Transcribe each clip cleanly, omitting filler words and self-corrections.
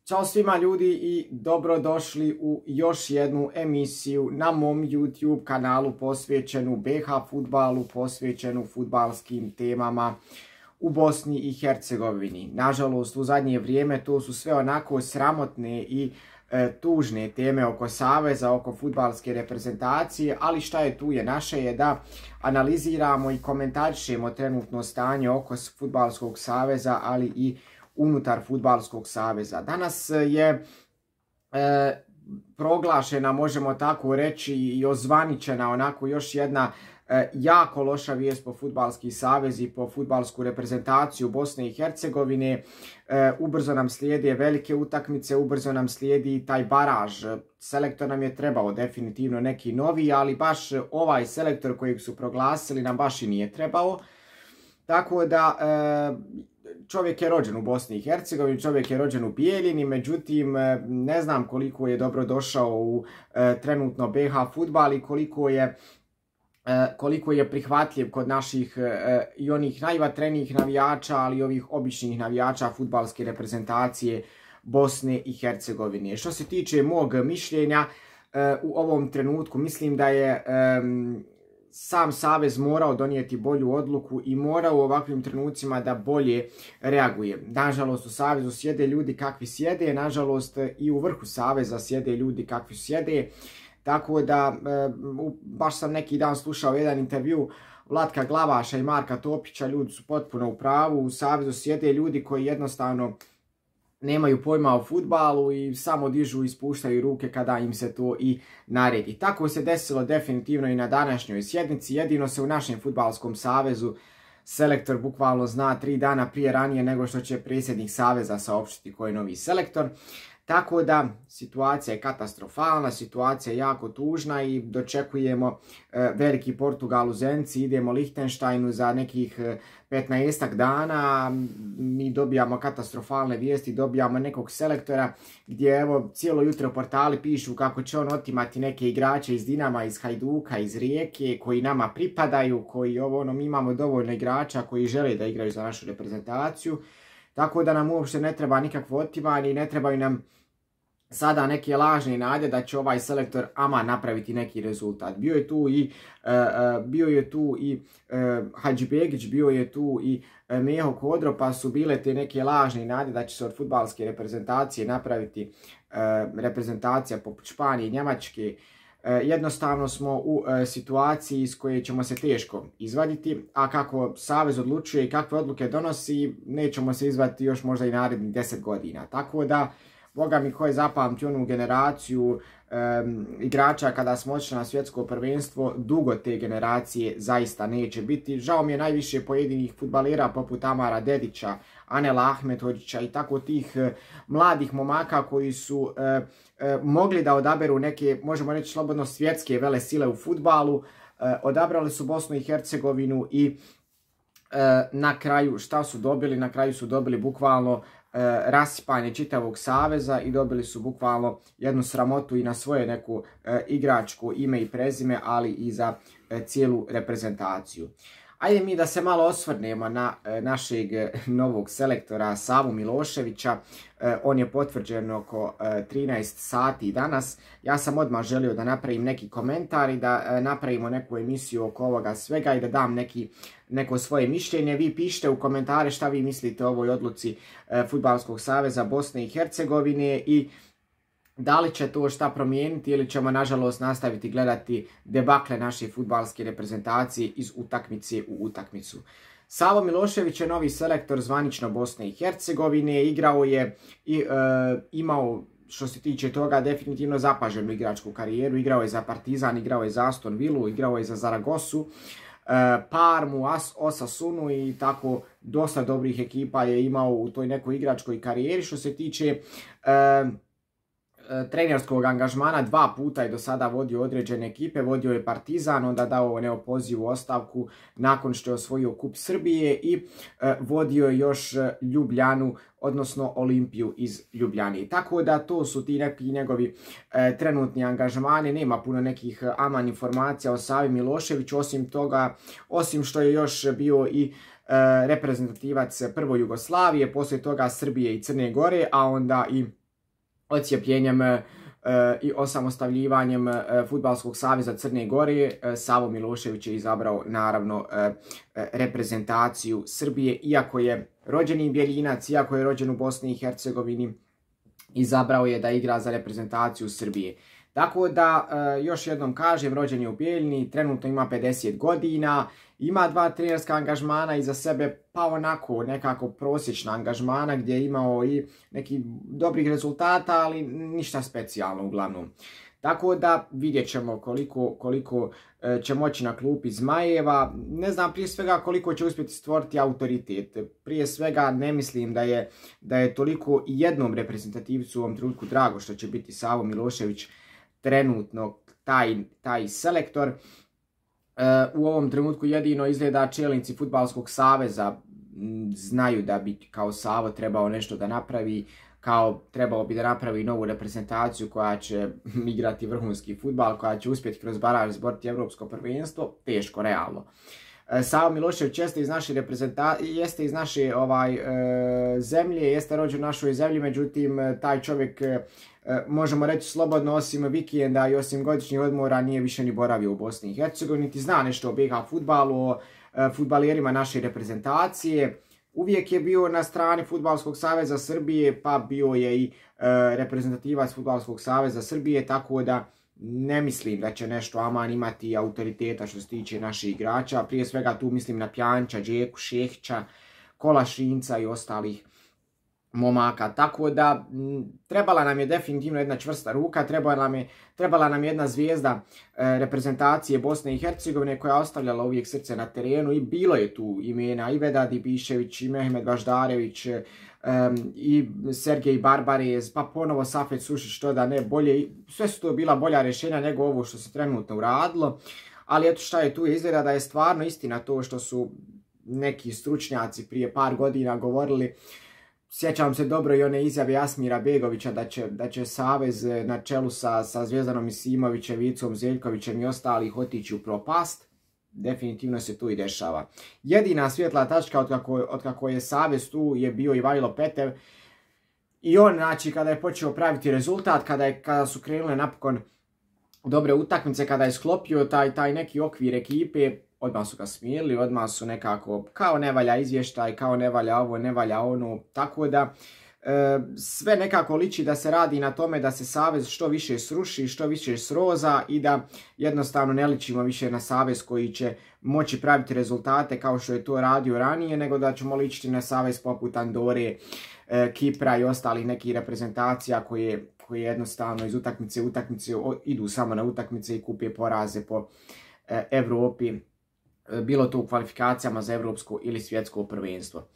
Ćao svima ljudi i dobrodošli u još jednu emisiju na mom YouTube kanalu posvećenu BH fudbalu, posvećenu fudbalskim temama u Bosni i Hercegovini. Nažalost, u zadnje vrijeme to su sve onako sramotne i tužne teme oko saveza, oko fudbalske reprezentacije, ali šta je tu je naše je da analiziramo i komentarišemo trenutno stanje oko fudbalskog saveza, ali i unutar fudbalskog saveza. Danas je proglašena, možemo tako reći, i ozvaničena onako još jedna jako loša vijest po fudbalski savez i po fudbalsku reprezentaciju Bosne i Hercegovine. Ubrzo nam slijede velike utakmice, ubrzo nam slijedi taj baraž. Selektor nam je trebao definitivno neki novi, ali baš ovaj selektor kojeg su proglasili nam baš i nije trebao. Tako da čovjek je rođen u Bosni i Hercegovini, čovjek je rođen u Bijeljini, međutim ne znam koliko je dobro došao u trenutno BH fudbal i koliko je prihvatljiv kod naših i onih najvatrenijih navijača, ali i ovih običnih navijača fudbalske reprezentacije Bosne i Hercegovine. Što se tiče mog mišljenja, u ovom trenutku mislim da je sam savez morao donijeti bolju odluku i morao u ovakvim trenucima da bolje reaguje. Nažalost, u savezu sjede ljudi kakvi sjede, nažalost i u vrhu saveza sjede ljudi kakvi sjede. Tako da, baš sam neki dan slušao jedan intervju Vlatka Glavaša i Marka Topića, ljudi su potpuno u pravu, u savezu sjede ljudi koji jednostavno nemaju pojma o fudbalu i samo dižu i spuštaju ruke kada im se to i naredi. Tako se desilo definitivno i na današnjoj sjednici, jedino se u našem fudbalskom savezu selektor bukvalno zna 3 dana prije ranije nego što će predsjednik saveza saopštiti koji je novi selektor. Tako da situacija je katastrofalna, situacija je jako tužna i dočekujemo veliki Portugal u Zenci, idemo Lihtenštajnu za nekih 15 dana, mi dobijamo katastrofalne vijesti, dobijamo nekog selektora gdje evo cijelo jutro portali pišu kako će on otimati neke igrače iz Dinama, iz Hajduka, iz Rijeke koji nama pripadaju, koji mi imamo dovoljno igrača koji žele da igraju za našu reprezentaciju. Tako da nam uopšte ne treba nikakvo otimanje i ne trebaju nam sada neke lažne nade da će ovaj selektor ama napraviti neki rezultat. Bio je tu i Hadžibegić, bio je tu i Meho Kodro, pa su bile te neke lažne nade da će se od fudbalske reprezentacije napraviti reprezentacija poput Španije i Njemačke. Jednostavno smo u situaciji iz koje ćemo se teško izvaditi, a kako savez odlučuje i kakve odluke donosi, nećemo se izvaditi još možda i narednih 10 godina. Tako da, Boga mi, ko je zapamtio onu generaciju igrača kada smo otišli na svjetsko prvenstvo, dugo te generacije zaista neće biti. Žao mi je najviše pojedinih fudbalera poput Amara Dedića, Anela Ahmetovića i tako tih mladih momaka koji su mogli da odaberu neke, možemo reći slobodno, svjetske velesile u fudbalu. Odabrali su Bosnu i Hercegovinu i na kraju šta su dobili? Na kraju su dobili bukvalno rasipanje čitavog saveza i dobili su bukvalno jednu sramotu i na svoje neku igračko ime i prezime, ali i za cijelu reprezentaciju. Ajde mi da se malo osvrnemo na našeg novog selektora Savu Miloševića. On je potvrđen oko 13 sati danas. Ja sam odmah želio da napravim neki komentar i da napravimo neku emisiju oko ovoga svega i da dam neko svoje mišljenje. Vi pišite u komentare šta vi mislite o ovoj odluci Fudbalskog saveza Bosne i Hercegovine i da li će to šta promijeniti ili ćemo nažalost nastaviti gledati debakle naše fudbalske reprezentacije iz utakmice u utakmicu. Savo Milošević je novi selektor zvanično Bosne i Hercegovine, igrao je i imao, što se tiče toga, definitivno zapaženu igračku karijeru. Igrao je za Partizan, igrao je za Aston Villu, igrao je za Zaragozu, Parmu, Osasunu i tako dosta dobrih ekipa je imao u toj nekoj igračkoj karijeri. Što se tiče trenerskog angažmana, 2 puta je do sada vodio određene ekipe, vodio je Partizan, onda dao neopozivu ostavku nakon što je osvojio Kup Srbije i vodio je još Ljubljanu, odnosno Olimpiju iz Ljubljane. Tako da to su ti neki njegovi trenutni angažmani, nema puno nekih aman informacija o Savi Miloševiću, osim toga, osim što je još bio i reprezentativac prvo Jugoslavije, poslije toga Srbije i Crne Gore, a onda i odcijepljenjem i osamostaljivanjem Fudbalskog saveza Crne Gore, Savo Milošević je izabrao naravno reprezentaciju Srbije, iako je rođeni Bjeljinac, iako je rođen u Bosni i Hercegovini, izabrao je da igra za reprezentaciju Srbije. Tako da, još jednom kažem, rođen je u Bijeljini, trenutno ima 50 godina, ima 2 trenerska angažmana iza sebe, pa onako nekako prosječna angažmana gdje je imao i nekih dobrih rezultata, ali ništa specijalno uglavnom. Tako da vidjet ćemo koliko će moći na klupi Zmajeva. Ne znam prije svega koliko će uspjeti stvoriti autoritet. Prije svega ne mislim da je toliko i jednom reprezentativcu u ovom trenutku drago što će biti Savo Milošević trenutno taj selektor. U ovom trenutku jedino izgleda čelnici Fudbalskog saveza znaju da bi kao Savo trebao nešto da napravi, kao trebalo bi da napravi novu reprezentaciju koja će igrati vrhunski fudbal, koja će uspjeti kroz baraž izboriti evropsko prvenstvo, teško, realno. Savo Milošević jeste iz naše zemlje, jeste rođen u našoj zemlji, međutim taj čovjek, možemo reći slobodno, osim vikenda i osim godišnjih odmora nije više ni boravio u Bosni i Hercegovini, niti zna nešto o BiH fudbalu, o fudbalijerima naše reprezentacije. Uvijek je bio na strani Fudbalskog saveza Srbije, pa bio je i reprezentativac Fudbalskog saveza Srbije, tako da ne mislim da će nešto aman imati autoriteta što se tiče naših igrača. Prije svega tu mislim na Pjanića, Džeku, Šehića, Kolašinca i ostalih momaka. Tako da trebala nam je definitivno jedna čvrsta ruka, trebala nam je jedna zvijezda reprezentacije Bosne i Hercegovine koja je ostavljala uvijek srce na terenu i bilo je tu imena i Vedad Ibišević i Mehmed Baždarević i Sergej Barbarez, pa ponovo Safet Sušić, što da ne, bolje, sve su to bila bolja rješenja nego ovo što se trenutno uradilo, ali eto šta je tu, izgleda da je stvarno istina to što su neki stručnjaci prije par godina govorili. Sjećam se dobro i one izjave Jasmira Begovića da će savez na čelu sa Zvjezdanom Isimovićem, Vicom Zeljkovićem i ostalih otići u propast. Definitivno se tu i dešava. Jedina svjetla tačka otkako je savez tu je bio Ivajlo Petev. I on, znači, kada je počeo praviti rezultat, kada su krenule napokon dobre utakmice, kada je sklopio taj neki okvir ekipe, odmah su ga smijenili, odmah su nekako kao ne valja izvještaj, kao ne valja ovo, ne valja ono, tako da sve nekako liči da se radi na tome da se savez što više sruši, što više sroza i da jednostavno ne ličimo više na savez koji će moći praviti rezultate kao što je to radio ranije, nego da ćemo ličiti na savez poput Andore, Kipra i ostalih nekih reprezentacija koje jednostavno iz utakmice u utakmice idu samo na utakmice i kupe poraze po Evropi, bilo to u kvalifikacijama za evropsko ili svjetsko prvenstvo.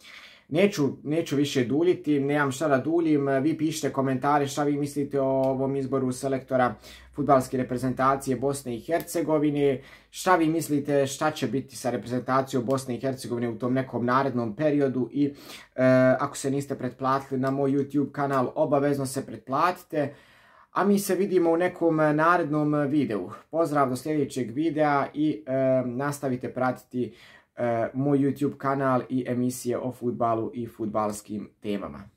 Neću više duljiti, nemam šta da duljim, vi pišite komentare šta vi mislite o ovom izboru selektora fudbalske reprezentacije Bosne i Hercegovine, šta vi mislite šta će biti sa reprezentacijom Bosne i Hercegovine u tom nekom narednom periodu i ako se niste pretplatili na moj YouTube kanal, obavezno se pretplatite. A mi se vidimo u nekom narednom videu. Pozdrav do sljedećeg videa i nastavite pratiti moj YouTube kanal i emisije o fudbalu i fudbalskim temama.